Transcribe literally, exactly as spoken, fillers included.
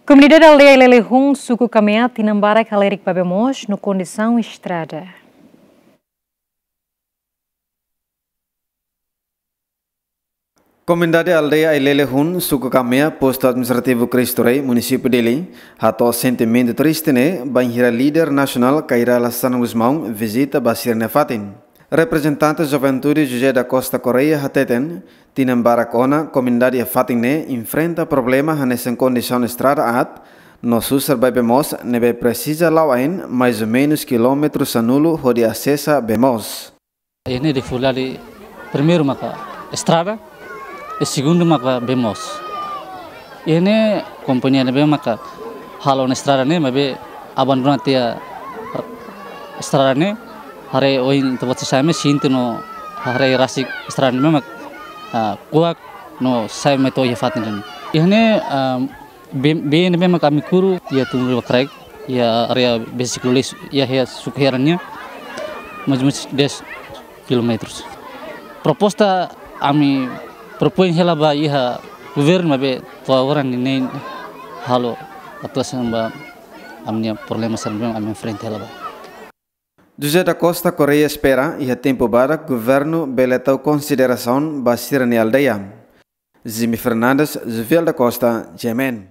Komunidade aldeia Ilelehun, suku Kamea, tinan barak halerik ba bee moos no kondisaun estrada. Komunidade aldeia Ilelehun, suku Kamea, postu administrativu Cristo Rei, munisípiu Dili, hato'o sentimentu triste ne'e bainhira líder nasionál Kay Rala Xanana Gusmão vizita ba sira-nia fatin. Reprezentante juventude José da Costa Correia hateten, tinan barak ona komunidade iha fatin ne'e enfrenta problema hanesan kondisaun estrada aat no susar ba bee moos ne'ebé presiza la'o ain mais ou menus kilómetru sanulu hodi asesa bee moos. Iha ne'e difikultade primeiru maka estrada, i segundu maka bee moos. Iha ne'e kompañia ne'ebé maka halo ona estrada ne'e, maibé abandona tiha estrada ne'e, haree ohin ita-boot sira sa'e mai sente no haree rasik estrada ne'e mak, ah, kuak no sa'e mai to'o iha fatin ne'e. Iha ne'e, ah, bee, bee ne'ebé mak ami kuru iha Tun Riba Kraik, iha área bee siklu leis, iha, iha suku Heran nian, mais ou menus dez kilómetrus. Proposta ami propoin hela ba iha governu, maibé to'o agora ninin halo atuasaun ba ami-nia problema sira ne'ebé ami enfrenta hela ba. José da Costa Correia espera iha tempu badak governu bele tau konsiderasaun ba sira-nia aldeia. Jimmy Fernandes, Jovial da Costa, G M N.